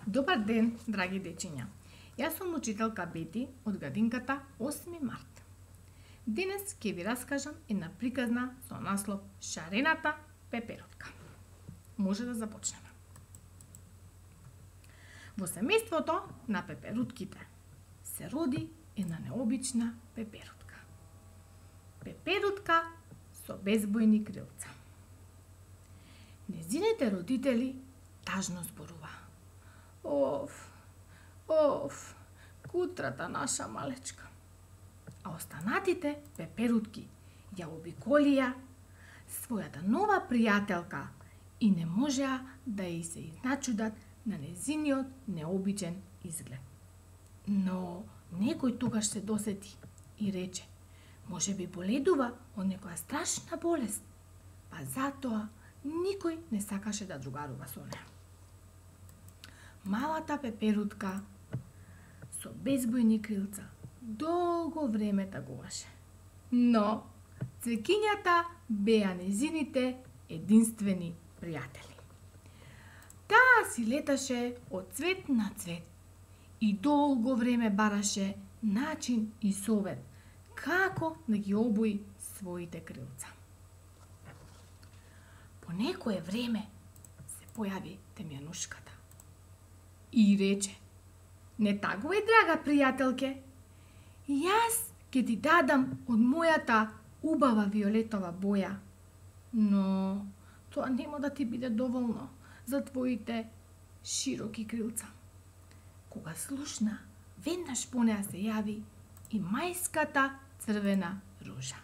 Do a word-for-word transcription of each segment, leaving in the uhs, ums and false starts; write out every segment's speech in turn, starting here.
Добар ден, драги дечиња. Јас сум учителка Бети од градинката осми март. Денес ќе ви раскажам една приказна со наслов Шарената пеперутка. Може да започнеме. Во семејството на пеперутките се роди една необична пеперутка. Пеперутка со безбојни крилца. Незините родители тажно зборува. Оф, оф, кутрата наша малечка. А останатите пеперутки ја обиколија својата нова пријателка и не можеа да и се изначудат на незиниот необичен изглед. Но некој тогаш се досети и рече, може би боледува од некоја страшна болест, па затоа никој не сакаше да другарува со неа. Малата пеперутка со безбојни крилца долго време тагуваше. Но цвекињата беа незините единствени пријатели. Таа си леташе од цвет на цвет и долго време бараше начин и совет како да ги обуи своите крилца. По некое време се појави темјанушката и рече, не тагувај, драга пријателке, јас ќе ти дадам од мојата убава виолетова боја, но тоа нема да ти биде доволно за твоите широки крилца. Кога слушна, веднаш по неа се јави и мајската црвена ружа.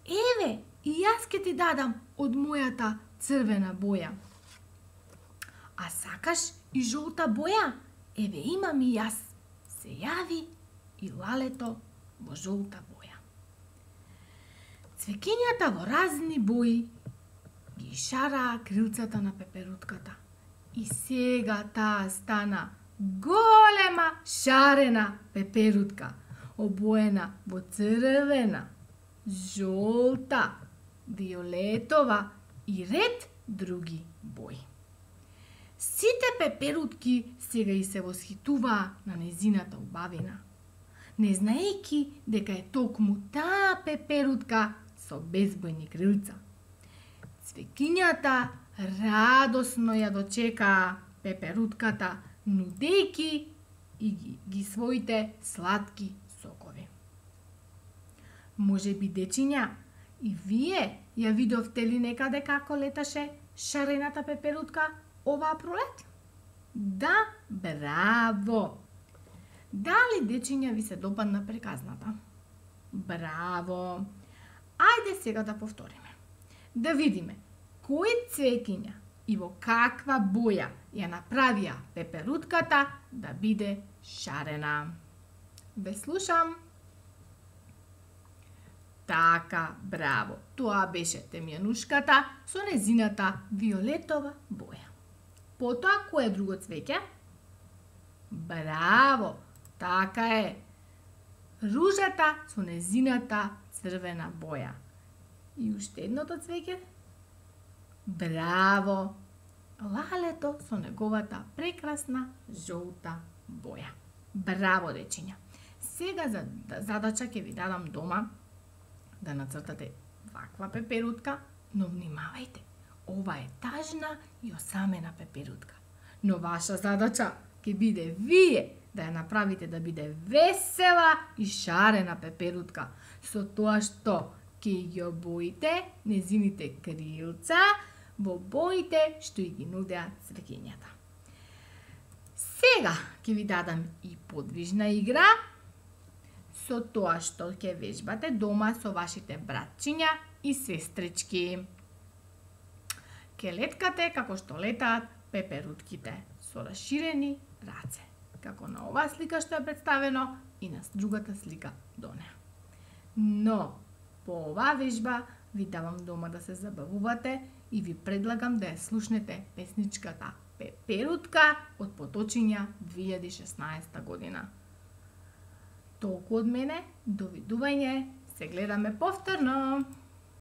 Еве, и јас ќе ти дадам од мојата црвена боја. А сакаш и жолта боја? Еве, имам и јас. Се јави и лалето во жолта боја. Цвекињата во разни бои ги шараа крилцата на пеперутката. И сега таа стана голема шарена пеперутка, обоена во црвена, жолта, виолетова и ред други бои. Сите пеперутки сега и се восхитуваа на незината убавина, не знаејќи дека е токму таа пеперутка со безбојни крилца. Цвекињата радосно ја дочекаа пеперутката, нудејќи и ги, ги своите сладки сокови. Може би, дечиња, и вие ја видовте ли некаде како леташе шарената пеперутка оваа пролет? Да, браво! Дали, дечиња, ви се допадна приказната? Браво! Ајде сега да повториме. Да видиме кои цвекиња и во каква боја ја направија пеперутката да биде шарена. Ве слушам. Така, браво. Тоа беше темјанушката со незината виолетова боја. Потоа, кое друго цвеќе? Браво, така е. Ружата со незината црвена боја. И уште едното цвеќе? Браво, лалето со неговата прекрасна жолта боја. Браво, дечиња. Сега за задача ќе ви дадам дома да нацртате ваква пеперутка, но внимавајте, ова е тажна и осамена пеперутка. Но ваша задача ќе биде вие да ја направите да биде весела и шарена пеперутка, со тоа што ќе ги обоите незините крилца во боите што и ги нудеа цвекињата. Сега ќе ви дадам и подвижна игра, со тоа што ќе вежбате дома со вашите братчиња и сестрички. Ке леткате како што летаат пеперутките, со расширени раце, како на оваа слика што е представено и на другата слика до неа. Но, по оваа вежба ви давам дома да се забавувате и ви предлагам да ја слушнете песничката Пеперутка од Поточиња две илјади и шеснаесета година. Толку од мене, довидување, се гледаме повторно!